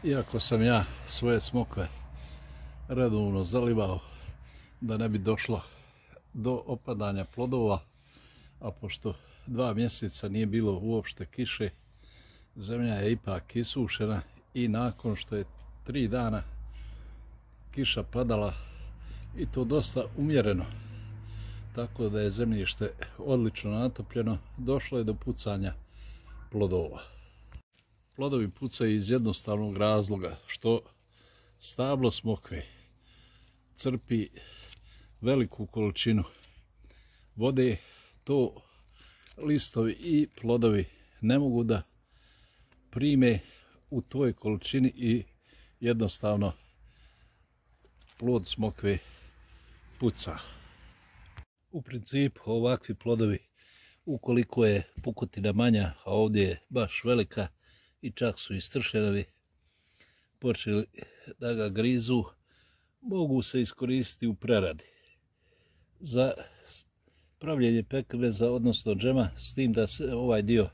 Iako sam ja svoje smokve redovno zalivao da ne bi došlo do opadanja plodova, a pošto 2 mjeseca nije bilo uopšte kiše, zemlja je ipak isušena i nakon što je 3 dana kiša padala i to dosta umjereno, tako da je zemljište odlično natopljeno, došlo je do pucanja plodova. Plodovi pucaju iz jednostavnog razloga što stablo smokve crpi veliku količinu vode, to listovi i plodovi ne mogu da prime u toj količini i jednostavno plod smokve puca. U principu ovakvi plodovi, ukoliko je pukotina manja, a ovdje je baš velika i čak su istršenovi počeli da ga grizu, mogu se iskoristiti u preradi za pravljenje pekmeza, odnosno džema, s tim da se ovaj dio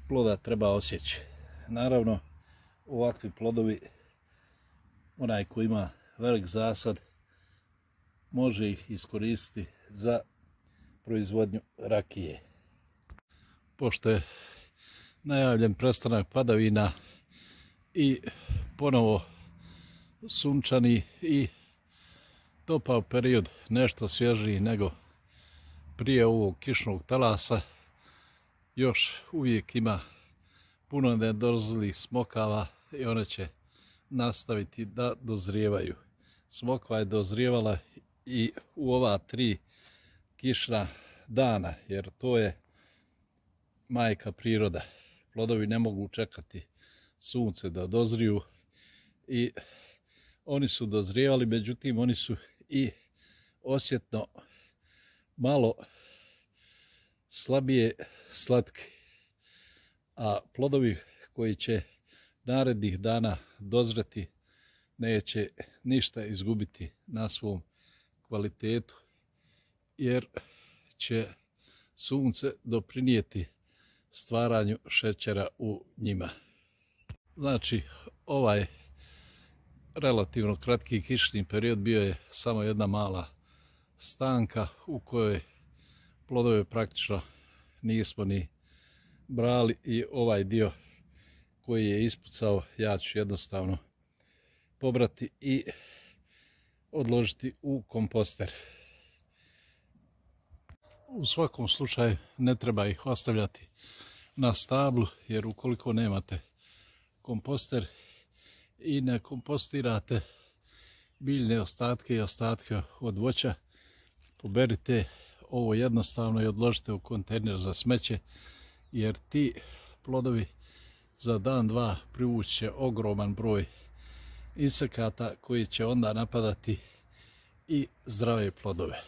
ploda treba osjeći. Naravno, ovakvi plodovi, onaj ko ima velik zasad, može ih iskoristiti za proizvodnju rakije. Pošto je najavljen prestanak padavina i ponovo sunčani i topao period, nešto svježiji nego prije ovog kišnog talasa, još uvijek ima puno nedozrelih smokava i one će nastaviti da dozrijevaju. Smokva je dozrijevala i u ova 3 kišna dana, jer to je majka priroda. Plodovi ne mogu čekati sunce da dozriju i oni su dozrijevali, međutim oni su i osjetno malo slabije slatki, a plodovi koji će narednih dana dozreti neće ništa izgubiti na svom kvalitetu, jer će sunce doprinijeti stvaranju šećera u njima. Znači, ovaj relativno kratki kišni period bio je samo jedna mala stanka u kojoj plodove praktično nismo ni brali i ovaj dio koji je ispucao ja ću jednostavno pobrati i odložiti u komposter. U svakom slučaju ne treba ih ostavljati na stablu, jer ukoliko nemate komposter i ne kompostirate biljne ostatke i ostatke od voća, poberite ovo jednostavno i odložite u kontejner za smeće, jer ti plodovi za dan, dva privući će ogroman broj insekata koji će onda napadati i zdrave plodove.